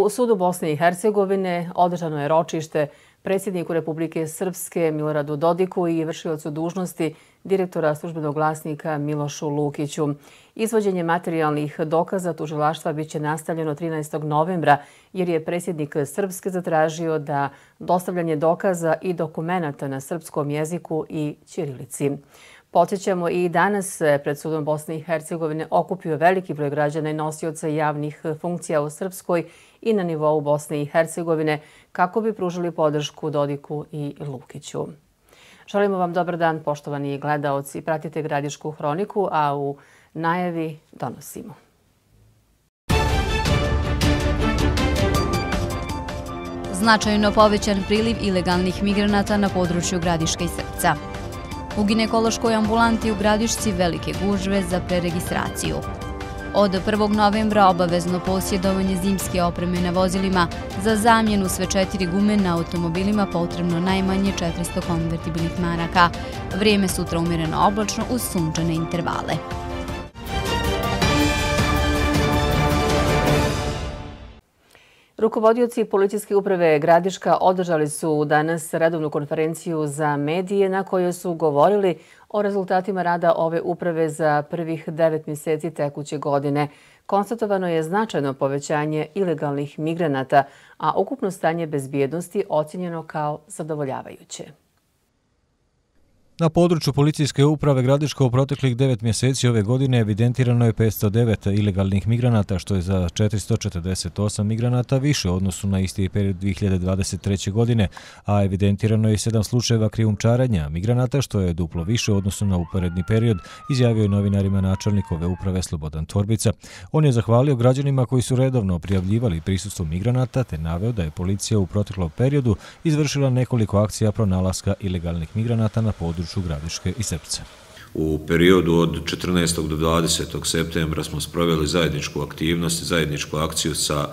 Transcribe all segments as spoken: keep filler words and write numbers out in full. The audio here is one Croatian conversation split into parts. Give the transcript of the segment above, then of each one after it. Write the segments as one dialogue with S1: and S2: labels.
S1: U sudu Bosne i Hercegovine održano je ročište predsjedniku Republike Srpske Miloradu Dodiku i vršiocu dužnosti direktora službenog glasnika Milošu Lukiću. Izvođenje materijalnih dokaza tužilaštva biće nastavljeno trinaestog novembra jer je predsjednik Srpske zatražio da dostavljanje dokaza i dokumenata na srpskom jeziku i ćirilici. Podsjećamo, i danas se pred sudom Bosne i Hercegovine okupio veliki broj građana i nosioca javnih funkcija u Srpskoj i na nivou Bosne i Hercegovine kako bi pružili podršku Dodiku i Lukiću. Želimo vam dobar dan, poštovani gledaoci. Pratite Gradišku hroniku, a u najavi donosimo.
S2: Značajno povećan priliv ilegalnih migranata na području Gradiške i Srpca. U ginekološkoj ambulanti u Gradišci velike gužve za preregistraciju. Od prvog novembra obavezno posjedovanje zimske opreme na vozilima, za zamjenu sve četiri gume na automobilima potrebno najmanje četiristo konvertibilnih maraka. Vrijeme sutra umjereno oblačno uz sunčane intervale.
S1: Rukovodioci policijske uprave Gradiška održali su danas redovnu konferenciju za medije na kojoj su govorili o rezultatima rada ove uprave za prvih devet mjeseci tekuće godine. Konstatovano je značajno povećanje ilegalnih migranata, a ukupno stanje bezbjednosti ocjenjeno kao zadovoljavajuće.
S3: Na području policijske uprave Gradiška u proteklih devet mjeseci ove godine evidentirano je petsto devet ilegalnih migranata, što je za četiristo četrdeset osam migranata više u odnosu na isti period dvije hiljade dvadeset treće. godine, a evidentirano je sedam slučajeva krijumčarenja migranata, što je duplo više u odnosu na uporedni period, izjavio je novinarima načelnik ove uprave Slobodan Torbica. On je zahvalio građanima koji su redovno prijavljivali prisustvo migranata, te naveo da je policija u proteklom periodu izvršila nekoliko akcija pronalaska ilegalnih migranata na području Gradiške i Srpca.
S4: U periodu od četrnaestog do dvadesetog septembra smo sproveli zajedničku aktivnost, zajedničku akciju sa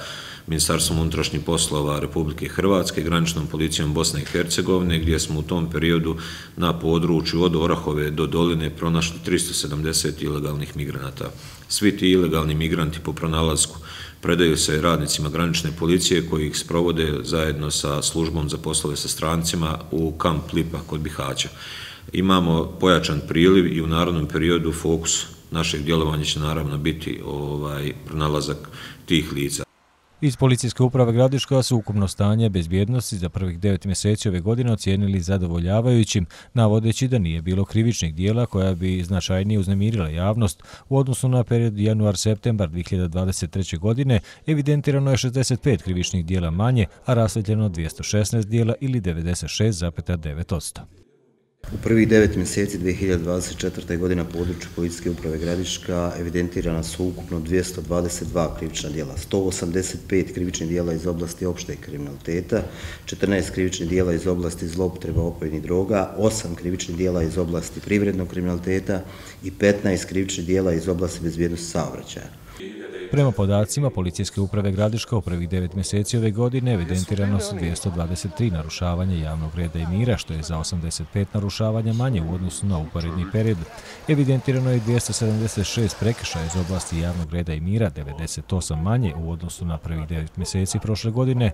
S4: Ministarstvom unutrašnjih poslova Republike Hrvatske, graničnom policijom Bosne i Hercegovine, gdje smo u tom periodu na području od Orahove do Doline pronašli tristo sedamdeset ilegalnih migranata. Svi ti ilegalni migranti po pronalasku predaju se radnicima granične policije koji ih sprovode zajedno sa službom za poslove sa strancima u kamp Lipa kod Bihaća. Imamo pojačan priliv i u narednom periodu fokus našeg djelovanja će naravno biti ovaj pronalazak tih lica.
S3: Iz policijske uprave Gradiška su ukupno stanje bezbjednosti za prvih devet mjeseci ove godine ocijenili zadovoljavajućim, navodeći da nije bilo krivičnih dijela koja bi značajnije uznemirila javnost. U odnosu na period januar-septembar dvije hiljade dvadeset treće. godine evidentirano je šezdeset pet krivičnih dijela manje, a rasvjetljeno dvjesto šesnaest dijela ili devedeset šest zarez devet posto.
S5: U prvih devet mjeseci dvije hiljade dvadeset četvrte. godine na području policijske uprave Gradiška evidentirana su ukupno dvjesto dvadeset dva krivična djela, sto osamdeset pet krivičnih djela iz oblasti opšteg kriminaliteta, četrnaest krivičnih djela iz oblasti zloupotreba opojnih droga, osam krivičnih djela iz oblasti privrednog kriminaliteta i petnaest krivičnih djela iz oblasti bezbjednosti saobraćaja.
S3: Prema podacima policijske uprave Gradiška u prvih devet mjeseci ove godine evidentirano su dvjesto dvadeset tri narušavanja javnog reda i mira, što je za osamdeset pet narušavanja manje u odnosu na uporedni period. Evidentirano je dvjesto sedamdeset šest prekršaja iz oblasti javnog reda i mira, devedeset osam manje u odnosu na prvih devet mjeseci prošle godine,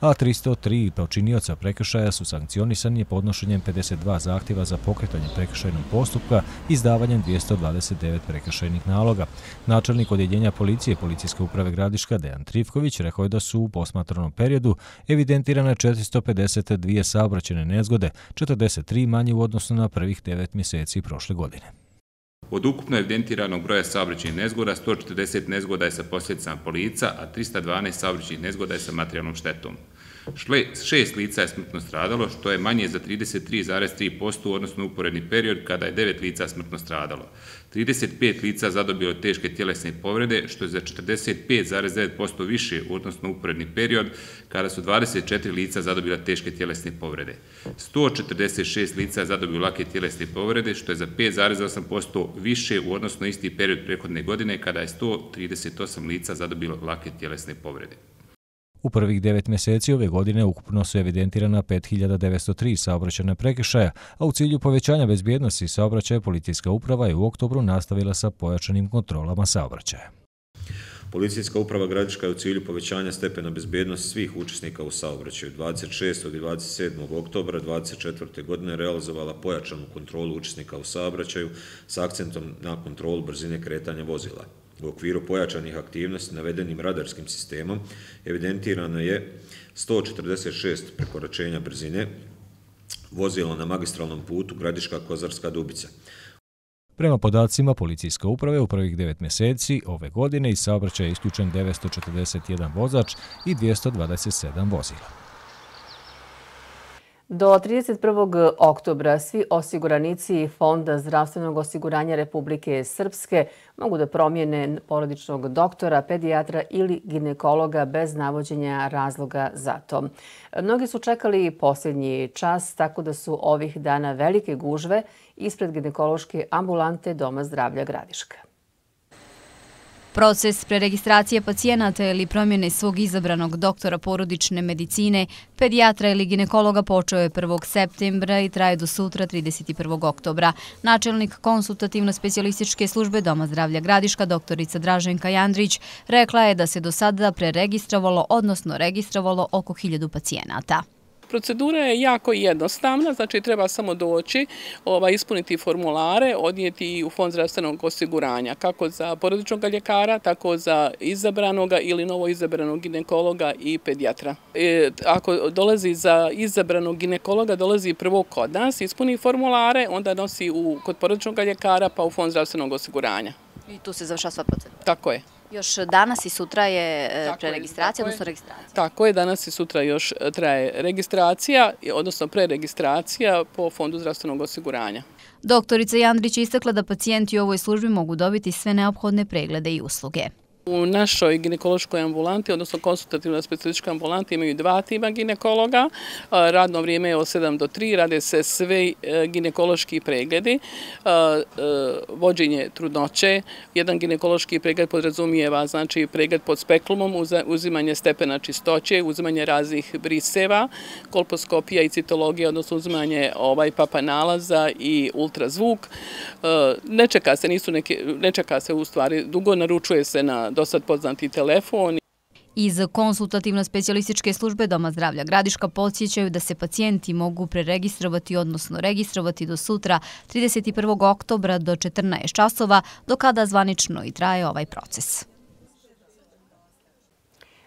S3: a tristo tri počinioca prekršaja su sankcionisani podnošenjem pedeset dva zahtjeva za pokretanje prekršajnog postupka i izdavanjem dvjesto dvadeset devet prekršajnih naloga. Načelnik odjeljenja policije policijske uprave Gradiška Dejan Trifković rekao je da su u posmatranom periodu evidentirane četiristo pedeset dvije saobraćajne nezgode, četrdeset tri manje u odnosu na prvih devet mjeseci prošle godine.
S6: Od ukupno evidentiranog broja saobraćajnih nezgoda, sto četrdeset nezgoda je sa posljedicama po lica, a tristo dvanaest saobraćajnih nezgoda je sa materijalnom štetom. Šest lica je smrtno stradalo, što je manje za trideset tri zarez tri posto u odnosu na uporedni period kada je devet lica smrtno stradalo. trideset pet lica zadobilo je teške tjelesne povrede, što je za četrdeset pet zarez devet posto više u odnosu na uporedni period kada su dvadeset četiri lica zadobila teške tjelesne povrede. sto četrdeset šest lica je zadobilo lake tjelesne povrede, što je za pet zarez osam posto više u odnosu na isti period prethodne godine kada je sto trideset osam lica zadobilo lake tjelesne povrede.
S3: U prvih devet mjeseci ove godine ukupno su evidentirana pet hiljada devetsto tri saobraćajna prekršaja, a u cilju povećanja bezbjednosti saobraćaja policijska uprava je u oktobru nastavila sa pojačanim kontrolama saobraćaja.
S4: Policijska uprava Gradiška je u cilju povećanja stepena bezbjednosti svih učesnika u saobraćaju dvadeset šestog i dvadeset sedmog oktobra dvadeset četvrte godine realizovala pojačanu kontrolu učesnika u saobraćaju s akcentom na kontrolu brzine kretanja vozila. U okviru pojačanih aktivnosti navedenim radarskim sistemom evidentirano je sto četrdeset šest prekoračenja brzine vozila na magistralnom putu Gradiška-Kozarska Dubica.
S3: Prema podacima policijske uprave u prvih devet mjeseci ove godine iz saobraćaja je isključen devetsto četrdeset jedan vozač i dvjesto dvadeset sedam vozila.
S1: Do trideset prvog oktobra svi osiguranici Fonda zdravstvenog osiguranja Republike Srpske mogu da promijene porodičnog doktora, pedijatra ili ginekologa bez navođenja razloga za to. Mnogi su čekali posljednji čas, tako da su ovih dana velike gužve ispred ginekološke ambulante Doma zdravlja Gradiška.
S2: Proces preregistracije pacijenata ili promjene svog izabranog doktora porodične medicine, pedijatra ili ginekologa počeo je prvog septembra i traje do sutra trideset prvog oktobra. Načelnik konsultativno-specijalističke službe Doma zdravlja Gradiška, doktorica Draženka Jandrić, rekla je da se do sada preregistrovalo, odnosno registrovalo oko hiljadu pacijenata.
S7: Procedura je jako jednostavna, znači treba samo doći, ovaj, ispuniti formulare, odnijeti u Fond zdravstvenog osiguranja, kako za porodičnog ljekara, tako za izabranog ili novo izabranog ginekologa i pedijatra. E, ako dolazi za izabranog ginekologa, dolazi prvo kod nas, ispuni formulare, onda nosi u, kod porodičnog ljekara pa u Fond zdravstvenog osiguranja.
S2: I tu se završava sva procedura.
S7: Tako je.
S2: Još danas i sutra je preregistracija, odnosno registracija.
S7: Tako je, danas i sutra još traje registracija, odnosno preregistracija po Fondu zdravstvenog osiguranja.
S2: Doktorica Jandrić je istakla da pacijenti u ovoj službi mogu dobiti sve neophodne preglede i usluge.
S7: U našoj ginekološkoj ambulanti, odnosno konsultativno-specijalističkoj ambulanti, imaju dva tima ginekologa. Radno vrijeme je od sedam do tri, rade se svi ginekološki pregledi, vođenje trudnoće. Jedan ginekološki pregled podrazumijeva, znači pregled pod speklumom, uzimanje stepena čistoće, uzimanje raznih briseva, kolposkopija i citologija, odnosno uzimanje ovaj papa nalaza i ultrazvuk. Ne čeka se, nisu neke, ne čeka se u stvari dugo, naručuje se na dosad poznati telefon.
S2: Iz konsultativno-specijalističke službe Doma zdravlja Gradiška podsjećaju da se pacijenti mogu preregistrovati, odnosno registrovati do sutra trideset prvog oktobra do četrnaest časova, do kada zvanično i traje ovaj proces.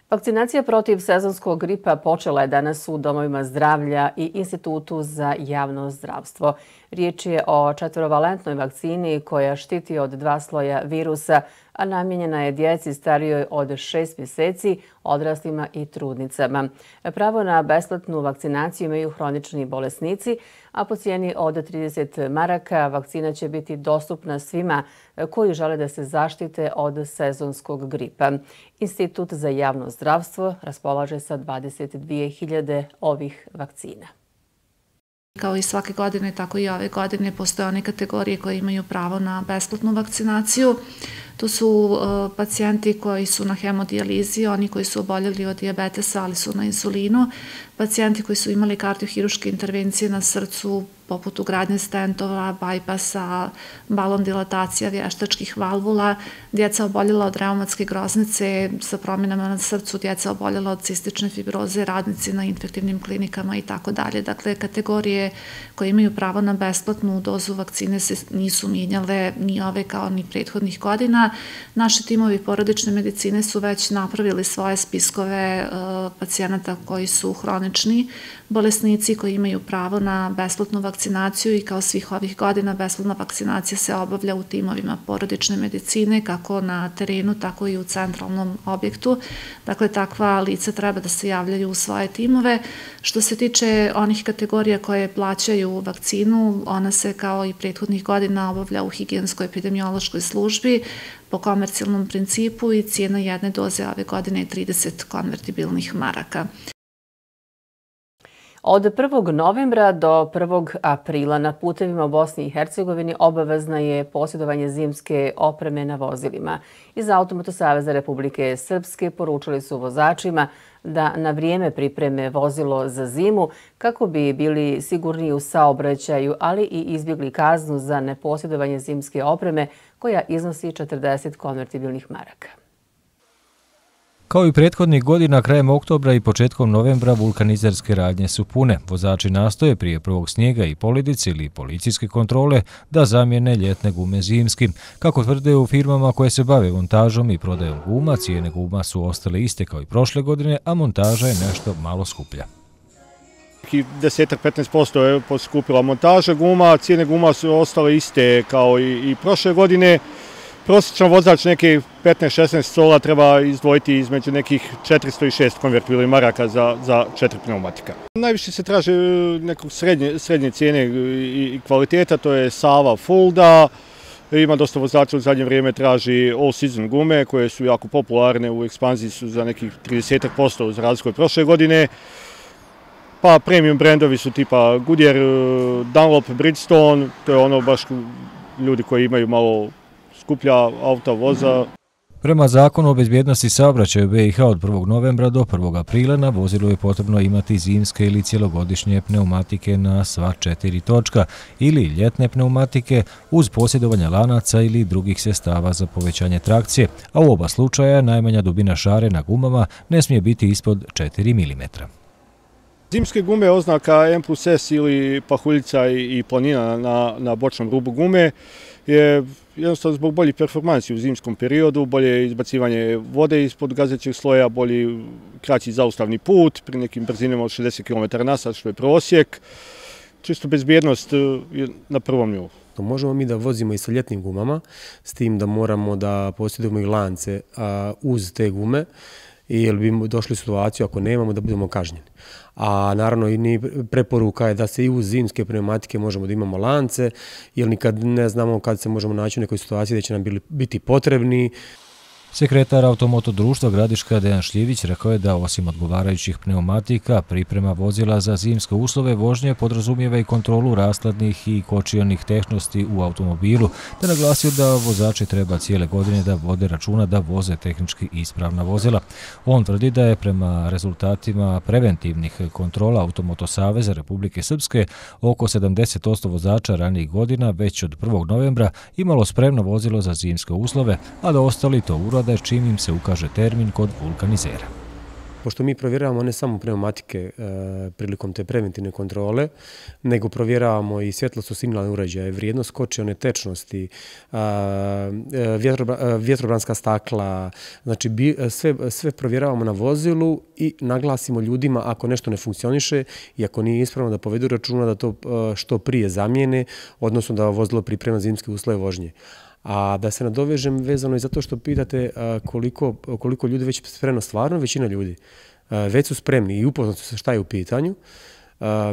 S1: Vakcinacija protiv sezonskog gripa počela je danas u domovima zdravlja i Institutu za javno zdravstvo. Riječ je o četvorovalentnoj vakcini koja štiti od dva sloja virusa, a namijenjena je djeci starijoj od šest mjeseci, odraslima i trudnicama. Pravo na besplatnu vakcinaciju imaju hronični bolesnici, a po cijeni od trideset maraka vakcina će biti dostupna svima koji žele da se zaštite od sezonskog gripa. Institut za javno zdravstvo raspolaže sa dvadeset dvije hiljade ovih vakcina.
S8: Kao i svake godine, tako i ove godine postoje one kategorije koje imaju pravo na besplatnu vakcinaciju. To su pacijenti koji su na hemodijalizi, oni koji su oboljeli od dijabetesa, ali su na insulinu, pacijenti koji su imali kardiohiruške intervencije na srcu, poput ugradnje stentova, bajpasa, balon dilatacija, vještačkih valvula, djeca oboljela od reumatske groznice sa promjenama na srcu, djeca oboljela od cistične fibroze, radnici na infektivnim klinikama i tako dalje. Dakle, kategorije koje imaju pravo na besplatnu dozu vakcine se nisu mijenjale ni ove kao ni prethodnih godina. Naši timovi porodične medicine su već napravili svoje spiskove pacijenata koji su hronični bolesnici koji imaju pravo na besplatnu vakcinaciju i kao svih ovih godina besplatna vakcinacija se obavlja u timovima porodične medicine kako na terenu, tako i u centralnom objektu. Dakle, takva lica treba da se javljaju u svoje timove. Što se tiče onih kategorija koje plaćaju vakcinu, ona se kao i prethodnih godina obavlja u higijensko-epidemiološkoj službi po komercijalnom principu i cijena jedne doze ove godine je trideset konvertibilnih maraka.
S1: Od prvog novembra do prvog aprila na putevima u Bosni i Hercegovini obavezna je posjedovanje zimske opreme na vozilima. Iz Automoto saveza Republike Srpske poručili su vozačima da na vrijeme pripreme vozilo za zimu kako bi bili sigurniji u saobraćaju, ali i izbjegli kaznu za neposjedovanje zimske opreme koja iznosi četrdeset konvertibilnih maraka.
S3: Kao i prethodnih godina, krajem oktobra i početkom novembra vulkanizerske radnje su pune. Vozači nastoje prije prvog snijega i poledice ili policijske kontrole da zamijene ljetne gume zimskim. Kako tvrde u firmama koje se bave montažom i prodajom guma, cijene guma su ostale iste kao i prošle godine, a montaža je nešto malo skuplja.
S9: deset do petnaest posto je poskupila montaža guma, cijene guma su ostale iste kao i, i prošle godine. Prosječan vozač neke petnaest šesnaest sola treba izdvojiti između nekih četiristo i šest konvertibilnih maraka za, za četiri pneumatika. Najviše se traže nekog srednje, srednje cijene i kvaliteta, to je Sava Fulda. Ima dosta vozača u zadnje vrijeme traži all season gume koje su jako popularne, u ekspanziji su za nekih trideset posto za razliku od prošle godine. Pa premium brendovi su tipa Goodyear, Dunlop, Bridgestone, to je ono baš ljudi koji imaju malo skuplja auta voza.
S3: Prema zakonu o bezbjednosti saobraćaja u be i ha od prvog novembra do prvog aprila na vozilu je potrebno imati zimske ili cjelogodišnje pneumatike na sva četiri točka ili ljetne pneumatike uz posjedovanje lanaca ili drugih sredstava za povećanje trakcije, a u oba slučaja najmanja dubina šare na gumama ne smije biti ispod četiri milimetra.
S9: Zimske gume oznaka M plus S ili pahuljica i planina na, na bočnom rubu gume je jednostavno zbog boljih performansi u zimskom periodu, bolje izbacivanje vode ispod gazećeg sloja, bolji kraći zaustavni put pri nekim brzinama od šezdeset kilometara na sat, što je prosjek. Čisto bezbjednost je na prvom nivou.
S10: Možemo mi da vozimo i sa ljetnim gumama, s tim da moramo da posjedujemo i lance a, uz te gume, jer bi došli u situaciju ako nemamo da budemo kažnjeni. A naravno i preporuka je da se i uz zimske pneumatike možemo da imamo lance, jer nikad ne znamo kad se možemo naći u nekoj situaciji da će nam biti potrebni.
S3: Sekretar Automoto društva Gradiška Dejan Šljivić rekao je da osim odgovarajućih pneumatika, priprema vozila za zimske uslove vožnje podrazumijeva i kontrolu rashladnih i kočionih tehnosti u automobilu, te naglasio da vozači treba cijele godine da vode računa da voze tehnički ispravna vozila. On tvrdi da je prema rezultatima preventivnih kontrola Automoto saveza Republike Srpske oko sedamdeset posto vozača ranijih godina već od prvog novembra imalo spremno vozilo za zimske uslove, a da ostali to urade čim im se ukaže termin kod vulkanizera.
S10: Pošto mi provjeravamo ne samo pneumatike e, prilikom te preventivne kontrole, nego provjeravamo i svjetlosno signalne uređaje, vrijednost kočione tečnosti, e, vjetro, vjetrobranska stakla, znači bi, sve, sve provjeravamo na vozilu i naglasimo ljudima ako nešto ne funkcioniše i ako nije ispravno da povedu računa da to što prije zamijene, odnosno da vozilo priprema zimske uslove vožnje. A da se nadovežem vezano i zato što pitate koliko, koliko ljudi već spremno, stvarno većina ljudi već su spremni i upoznati su šta je u pitanju.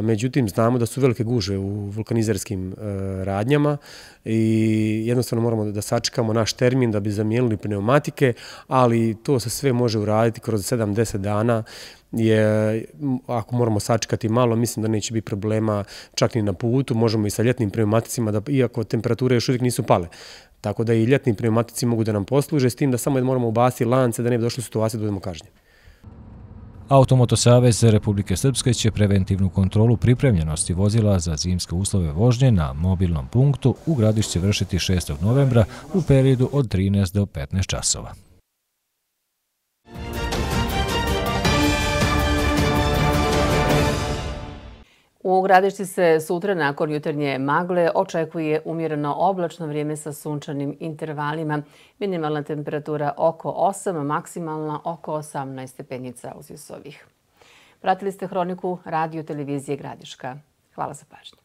S10: Međutim, znamo da su velike gužve u vulkanizerskim radnjama i jednostavno moramo da sačekamo naš termin da bi zamijenili pneumatike, ali to se sve može uraditi kroz sedam do deset dana. Je, ako moramo sačekati malo, mislim da neće biti problema čak ni na putu, možemo i sa ljetnim pneumaticima, da, iako temperature još uvijek nisu pale. Tako da i ljetni pneumatici mogu da nam posluže, s tim da samo moramo ubaciti lance da ne bi došli u situaciju da budemo kažnjeni.
S3: Automoto savez Republike Srpske će preventivnu kontrolu pripremljenosti vozila za zimske uslove vožnje na mobilnom punktu u Gradišci vršiti šestog novembra u periodu od trinaest do petnaest časova.
S1: U Gradišci se sutra nakon jutarnje magle očekuje umjereno oblačno vrijeme sa sunčanim intervalima. Minimalna temperatura oko osam, maksimalna oko osamnaest stepenica uzvisovih. Pratili ste Hroniku radio televizije Gradiška. Hvala za pažnju.